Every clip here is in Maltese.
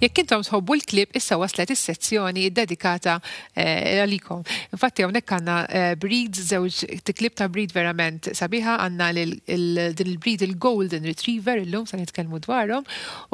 Jekk intom tħobbu l-klieb issa waslet is-sezzjoni ddedikata għalikom. Infatti hawnhekk għandna breeds, żewġ klieb ta' breed verament sabiħa, għandna din il-breed il-Golden Retriever illum se nitkellmu dwarhom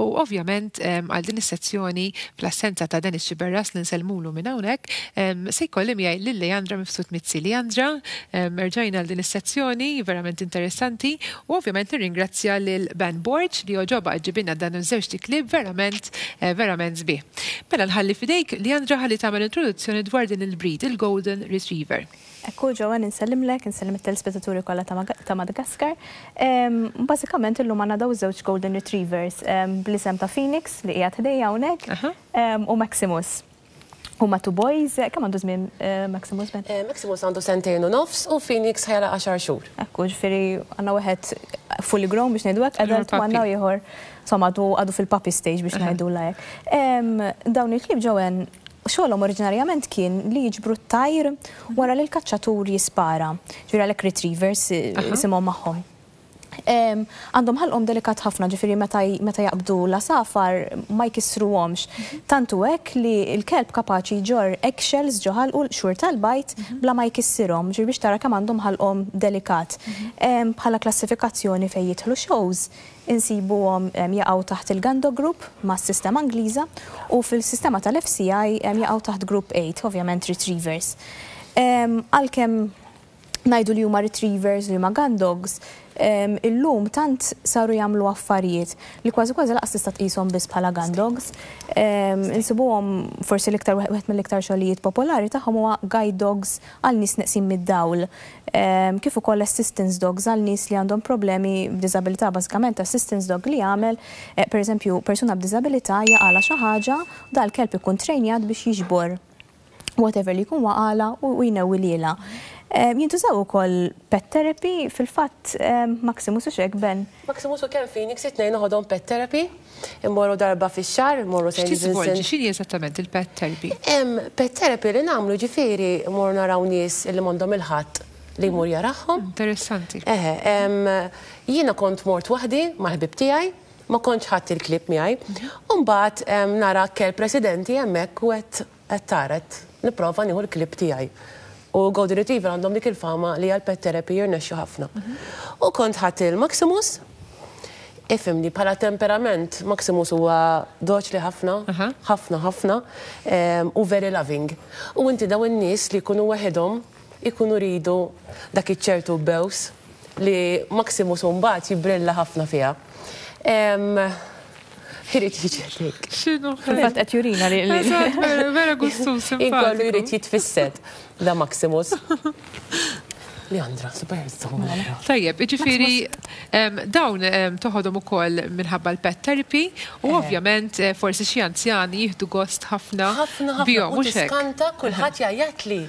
u ovvjament għal din is-sezzjoni fl-assenza ta' Dennis Sciberras li nsellmulu minn hawnhekk se jkolli miegħi lil Leandra Mifsud Mizzi. Leandra, erġajna għal din is-sezzjoni verament interessanti u ovvjament nirringrazzja lil Ben Borg li għoġobha ġġibilna dan iż-żewġt iklieb verament verament sbieħ. Mela nħalli f'idejk Leandra ħalli tagħmel introduzzjoni dwar din il-breed, il-Golden Retriever. Ekku Joanne insellimlek, insellem it-telespettaturi kollha ta' Madagascar. Bażikament illum għandna dawn iż-żewġ Golden Retrievers bl-isem ta' Phoenix li qiegħed ħdejja hawnhekk u Maximus. Huma two boys, kemm għandu żmien Maximus Ben? Maximus għandu sentejn u nofs u Phoenix ħa jagħlaq għaxar xhur. Ekku, ġifieri għandna wieħed fully grown biex ngħidu hekk, adult u għandna ieħor insomma għadu għadu fil-puppy stage biex ngħidulha hekk. Dawn il-klieb Joanne xogħolhom oriġinarjament kien li jiġbru t-tajr wara li l-kaċċatur jispara. Ġifieri għalhekk retrievers isimhom magħhom. Għandhom ħalqhom delikat ħafna, ġifieri meta meta jaqbdu l-għasafar ma jkissruhomx. Tant hu hekk li l-kelb kapaċi jġorr eggshells ġo ħalqu, l-qxur tal-bajd, bla ma jkissirhom, ġifieri biex tara kemm għandhom ħalqhom delikat. Bħala klassifikazzjoni fejn jidħlu shows, insibuhom jaqgħu taħt il-Gando Group mas-sistema Ingliża u fil-sistema tal-FCI jaqgħu taħt Group 8, ovvjament Retrievers. Għalkemm ngħidu li huma retrievers, li huma gun dogs, illum tant saru jagħmlu affarijiet li kważi kważi lanqas tista' tqishom biss bħala gun dogs. Insibuhom forsi l-iktar wieħed mill-iktar xogħlijiet popolari tagħhom huwa guide dogs għal nies neqsin mid-dawl. Kif ukoll assistance dogs għal nies li għandhom problemi b'diżabilità. Bażikament assistance dog li jagħmel, pereżempju, persuna b'diżabilità jaqalha xi ħaġa, dal-kelb ikun trejnjat biex jiġbor whatever li jkun waqala u jnewwi lilha. Jintużaw ukoll pet therapy, fil-fatt Maximus u xek Ben. Maximus u kemm Phoenix it-tnejn noħodhom pet therapy, immorru darba fix-xahar, immorru St. Vincent. X'inhi eżattament il-pet therapy? Pet therapy li nagħmlu ġifieri mmorru naraw nies li m'għandhom il-ħadd li jmur jarahom. Interessanti. Eħe, jiena kont mort waħdi mal-ħbieb tiegħi, ma kontx ħadt il-klieb miegħi. U mbagħad nara kelb residenti hemmhekk u għedt Qed tara, qed nipprova nieħu l-klieb tiegħi. U Golden Retriever għandhom dik il-fama li għall-pet therapy jirnexxu ħafna. U kont ħadt il-Maximus, ifhimni, bħala temperament Maximus huwa doċli ħafna, ħafna ħafna, u very loving. U inti dawn in-nies li jkunu waħedhom ikunu jridu dak iċ-ċertu bews li Maximus mbagħad jibbrilla ħafna fiha. Irid jiġi ħdejk. X'inhu? Fil-fatt qed jurina li. Eżatt, vera, vera gustuż Inkollu jrid jitfissed da Maximus. Leandra, super Tajjeb, jiġifieri dawn toħodhom ukoll minħabba l-pet therapy u ovvjament forsi xi anzjani jieħdu gost ħafna Ħafna ħafna bihom, u mhux hekk? tiskanta kulħadd jgħajjatli.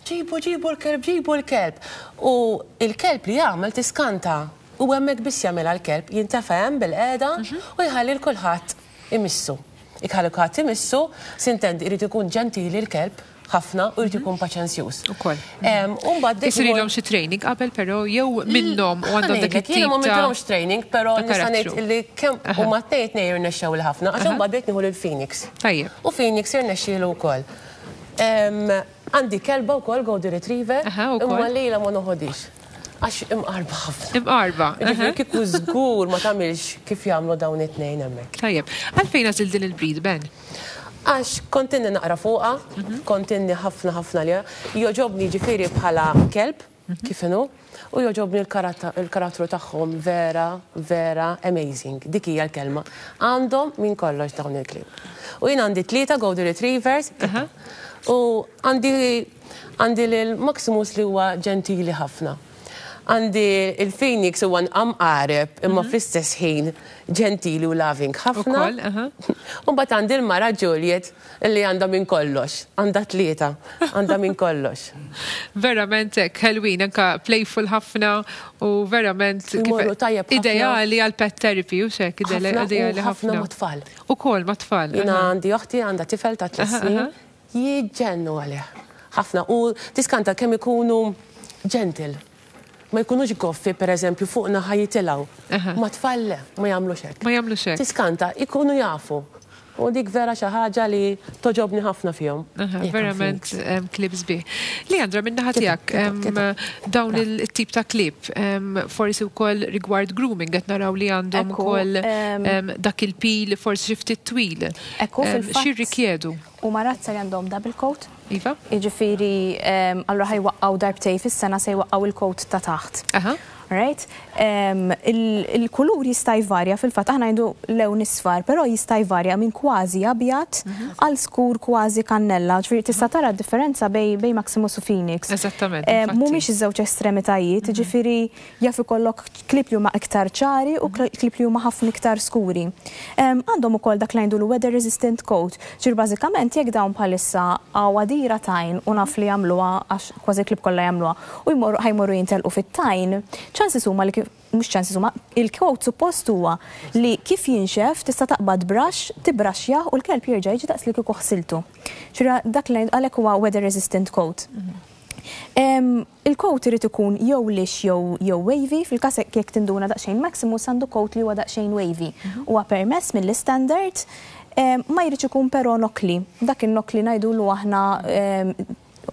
Ġibu, ġibu l-kelb, ġibu l-kelb. U l-kelb li jagħmel tiskanta. U hemmhekk biss jagħmilha l-kelb, jintefa' hemm bilqiegħda u jħalli 'l kulħadd imissu. Jekk iħalli kulħadd imissu, s'intendi irid ikun ġentili l-kelb ħafna u jrid ikun paċenzjuż. Ukoll. U mbagħad bdejt Isirilhom xi training qabel però jew minnhom u għandhom dak it-tip Jiena ma għamiltilhomx training, però nista' ngħid li kemm huma tnejn it-tnejn irnexxewli ħafna għax imbagħad bdejt nieħu lil Phoenix. Tajjeb. U Phoenix irnexxielu wkoll. Għandi kelba wkoll Golden Retriever, imma lilha ma noħodhiex. Għax imqarba ħafna. Imqarba. Ġifieri kieku żgur ma tagħmilx kif jagħmlu dawn it-tnejn hemmhekk. Tajjeb. Għalfejn għażilt din il-breed, Ben? Għax kont inni naqra fuqha, kont inni ħafna ħafna għaliha. Jogħġobni ġifieri bħala kelb, kif inhu, u jogħġobni l-karattru tagħhom vera, vera amazing. Dik hija l-kelma. Għandhom minn kollox dawn il-klieb. U jien għandi tlieta Golden Retrievers u għandi Għandi lil Maximus li huwa ġentili ħafna. Għandi il-Phoenix huwa mqareb imma fl-istess ħin ġentili u loving ħafna. U mbagħad għandi l-mara Juliet li għandha minn kollox. Għandha tlieta, għandha minn kollox. Verament hekk, ħelwin, anka playful ħafna u verament Imorru tajjeb ħafna. Ideali għal pet therapy u xek, ideali ħafna. Ħafna mat-tfal. Ukoll mat-tfal. Jiena għandi oħti għandha tifel ta' tliet snin. Jiġġennu għalih. Ħafna. U tiskanta kemm ikunu gentle. Ma jkunux goffi, per eżempju, fuqna ħa jitilgħu. Ma tfal le, ma jagħmlux hekk. Ma jagħmlux hekk. Tiskanta, ikunu jafu. U dik vera xi ħaġa li togħġobni ħafna fihom. Verament klieb sbieħ. Leandra, min-naħa tiegħek, dawn it-tip ta' klieb, forsi wkoll rigward grooming qed naraw li għandhom ukoll dak il-pil forsi xi ftit twil. Ekku, fil-fatt. X'jirrikjedu? Huma razza li għandhom double coat. Iva. Jiġifieri, allura ħa jwaqqgħu darbtejn fis-sena se jwaqqgħu il-coat ta' taħt. Right? Il-kulur jista' jvarja fil-fatt aħna ngħidu lewn isfar, però jista' jvarja minn kważi abjad għal skur kważi kannella. Ġifieri tista' tara d-differenza bejn Maximus u Phoenix. Eżattament. Mhumiex iż-żewġ estremitajiet, ġifieri jaf ikollok klieb li huma iktar ċari u klieb li huma ħafna iktar skuri. Għandhom ukoll dak li ngħidulu weather resistant coat. Ġifieri bażikament jekk dawn bħalissa hawn għadira tajn u naf li jagħmluha għax kważi l-klieb kollha jagħmluha u jmorru ħa jmorru jintelqu fit-tajn, chances huma li kif mhux chances huma, il-coat suppost huwa li kif jinxef tista' taqbad brush, tibbraxxjah u l-kelb jerġa' jiġi daqs li kieku ħsiltu. Ġifieri dak li għalhekk huwa weather resistant coat. Il-coat irid ikun jew lix jew jew wavy, fil-każ jekk tinduna daqsxejn Maximus għandu coat li huwa daqsxejn wavy. Huwa permess mill-istandard, ma jridx ikun però nokkli. Dak in-nokkli ngħidulu aħna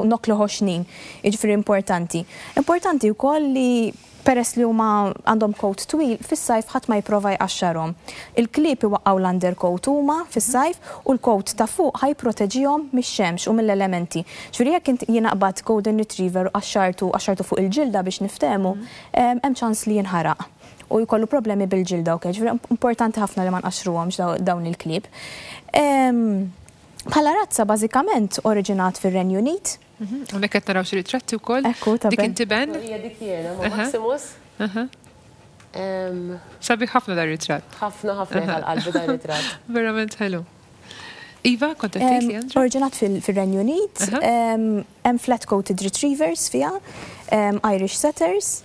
nokkli ħoxnin, jiġifieri importanti. Importanti wkoll li peress li huma għandhom coat twil, fis-sajf ħadd ma jipprova jqaxxarhom. Il-klieb iwaqqgħu l-undercoat huma fis-sajf u l-coat ta' fuq ħa jipproteġihom mix-xemx u mill-elementi. Ġifieri jekk int jiena qbadt golden retriever u qaxxartu qaxxartu fuq il-ġilda biex niftehmu, hemm ċans li jinħaraq u jkollu problemi bil-ġilda u ġifieri importanti ħafna li ma nqaxxruhomx dawn il-klieb. Bħala razza bażikament oriġinat fir-Renju Unit. Hawnhekk qed naraw xi ritratti wkoll. Ekku, ta' Dik inti Ben? Hija dik jiena ma' Maximus. Sabiħ ħafna dar ritratt. Ħafna ħafna għal qalbi dar ritratt. Verament ħelu. Iva, kont qed tgħid li Andra? Oriġinat fir-Renju Unit, hemm flat-coated retrievers fiha, Irish setters,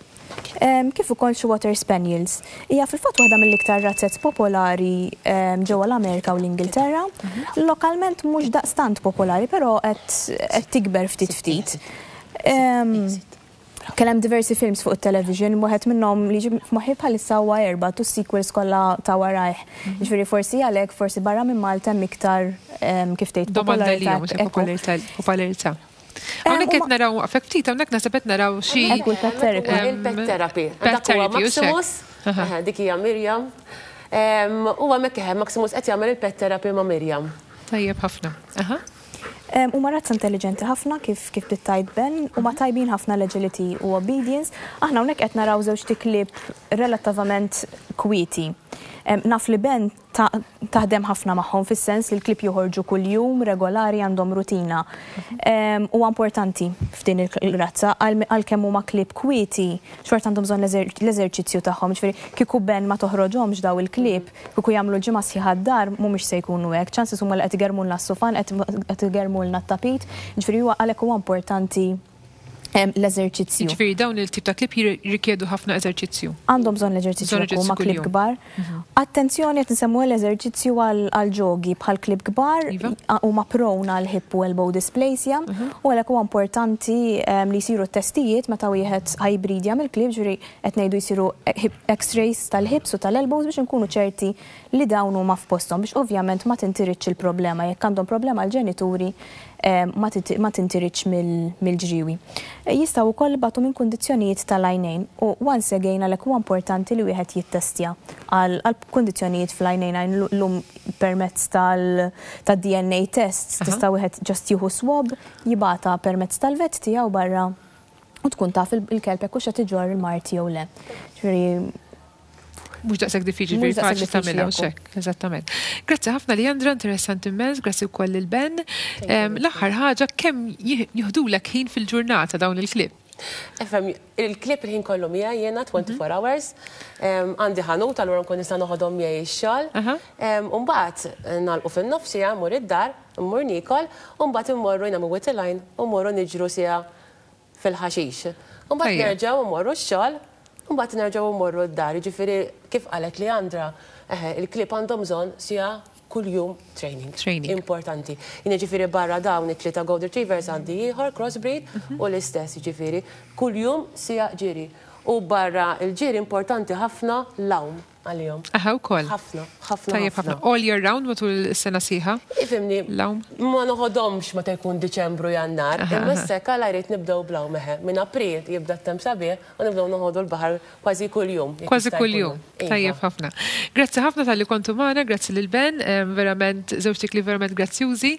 kif ukoll xi water spaniels. Hija fil-fatt waħda mill-iktar razzez popolari ġewwa l-Amerika u l-Ingilterra. Lokalment mhux daqstant popolari, però qed tikber ftit ftit. Kien hemm diversi films fuq it-television, wieħed minnhom li ġie f'moħħi bħalissa huwa Airbud u s-sequels kollha ta' warajh. Ġifieri forsi għalhekk forsi barra minn Malta hemm iktar kif tgħid Domanda li popolarità. Hawnhekk qed naraw waqfek ftit, hawnhekk naħseb qed naraw xi. Ekku l-pet therapy. Il-pet therapy. Pet therapy, Maximus, dik hija Mirjam. U hemmhekk Maximus qed jagħmel il-pet therapy ma' Mirjam. Tajjeb ħafna. Huma razza intelligenti ħafna kif kif tgħid Ben, huma tajbin ħafna l-agility u obedience. Aħna hawnhekk qed naraw żewġt iklieb relattivament kwieti. Naf li Ben taħdem ħafna magħhom fis-sens li l-klieb joħorġu kuljum regolari għandhom rutina. Huwa importanti f'din il-razza għalkemm huma klieb kwieti, xorta għandhom bżonn l-eżerċizzju tagħhom. Ġifieri kieku Ben ma toħroġhomx daw il-klieb, kieku jagħmlu ġimgħa sħiħa d-dar mhumiex se jkunu hekk. Chances huma li qed igermulna s-sufan, qed igermulna t-tapit, ġifieri huwa għalhekk huwa importanti l-eżerċizzju. Ġifieri dawn il-tip ta' klieb jirrikjedu ħafna eżerċizzju. Għandhom bżonn l-eżerċizzju huma klieb kbar. Attenzjoni qed nsemmu l-eżerċizzju għal ġogi bħal klieb kbar iva. huma prone għal hip u elbow dysplasia u għalhekk huwa importanti li jsiru testijiet meta wieħed ħa jibbridja mill-klieb ġifieri qed ngħidu jsiru x-rays tal-hips u tal-elbows biex inkunu ċerti li dawn huma f'posthom biex ovvjament ma tintiritx il-problema jekk għandhom problema l-ġenituri ma tintiritx mill-ġriwi. Jistgħu wkoll ibatu minn kundizzjonijiet tal-għajnejn u once again għalhekk huwa importanti li wieħed jittestja għal kundizzjonijiet fl-għajnejn għajn llum permezz tal-DNA tests tista' wieħed just jieħu swab jibgħatha permezz tal-vet tiegħu barra u tkun taf il-kelb jekk hux qed iġorr il-mard jew le. Ġifieri mhux daqshekk diffiċli Mhux faċli daqshekk tagħmilha diffiċli, hekk, eżattament. Grazzi ħafna Leandra, interessanti immens, grazzi wkoll lil Ben. L-aħħar ħaġa kemm jieħdulek ħin fil-ġurnata dawn il-klieb? Efhem, il-klieb il-ħin kollu miegħi jiena 24 hours. Għandi ħanut allura nkun nista' noħodhom miegħi x-xogħol. U mbagħad nagħlqu fin-nofs siegħa mmur id-dar, mmur niekol, u mbagħad immorru nagħmlu with line u mmorru niġru siegħa fil-ħaxix. U mbagħad nerġgħu mmorru x-xogħol, u mbagħad nerġgħu mmorru d-dar. Jiġifieri kif qalet Leandra, il-klieb għandhom bżonn siegħa kuljum training. Training. Importanti. Jien ġifieri barra dawn it-tlieta Golden Retrievers għandi ieħor crossbreed u l-istess ġifieri kuljum siegħa ġiri. U barra il-ġiri importanti ħafna l-għawm. għalihom. Aha, wkoll. Ħafna, ħafna. Tajjeb ħafna. All year round matul is-sena sħiħa? Ifhimni, ma noħodhomx meta jkun Diċembru, Jannar, imma issa hekk għala jrid nibdew bl-għawm eħe. Minn April jibda t-temp sabiħ u nibdew noħodu l-baħar kważi kuljum. Kważi kuljum. Tajjeb ħafna. Grazzi ħafna talli kontu magħna, grazzi lil Ben, verament żewġ tikli verament grazzjużi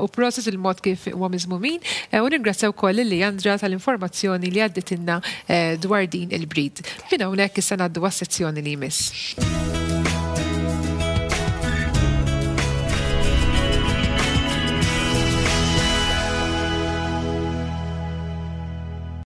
u prosit il-mod kif huma miżmumin. U ningrazzja wkoll lil Leandra tal-informazzjoni li għadditilna dwar din il-breed. Minn hawnhekk issa ngħaddu għas-sezzjoni li jmiss.